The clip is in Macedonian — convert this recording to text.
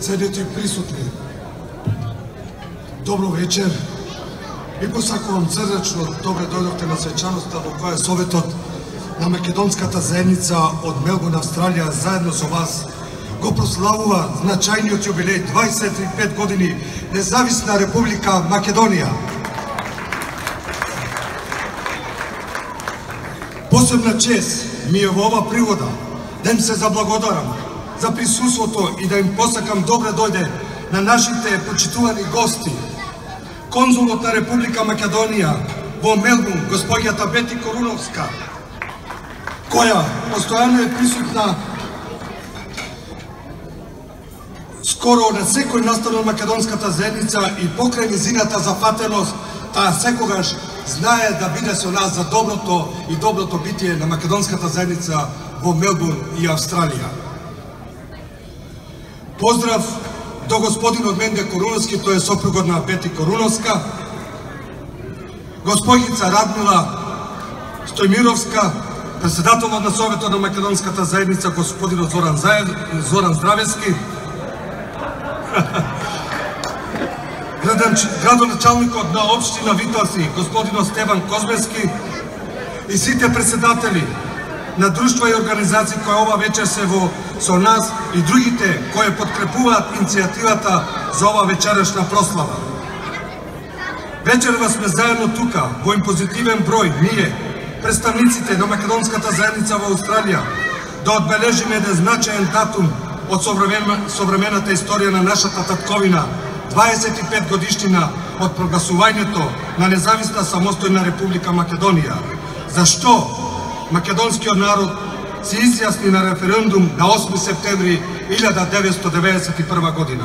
Ценети присутни, добро вечер. Ви посакувам срдечно добре дојдовте на свечаноста во која Советот на Македонската заедница од Мелбурн, Австралија, заедно со вас го прославува значајниот јубилеј 25 години Независна Република Македонија. Посебна чест ми е во ова пригода да им се заблагодарам за присуството и да им посакам добре дојде на нашите почитувани гости. Конзулот на Република Македонија во Мелбурн, господјата Бети Коруновска, која постојано е присутна скоро на секој настан од Македонската заедница и покрај низината зафатеност, таа секогаш знае да биде со нас за доброто и доброто битие на Македонската заедница во Мелбурн и Австралија. Поздрав до господинот Менде Коруновски, тој е сопругот на Бети Коруновска, госпојица Радмила Стојмировска, председателот на Советот на Македонската заедница, господинот Зоран Здравевски, градоначалникот на општина Витоси, господинот Стеван Козмески и сите председатели на друштва и организации кои ова вечер се со нас и другите кои подкрепуваат иницијативата за ова вечерашна прослава. Вечерва сме заедно тука, во импозитивен број, ние, представниците на Македонската заедница во Австралија, да одбележиме еден значаен датум од современата историја на нашата татковина, 25 годишнина од прогласувањето на независна самостојна Република Македонија. Зашто македонскиот народ се изјасни на референдум на 8 септември 1991 година.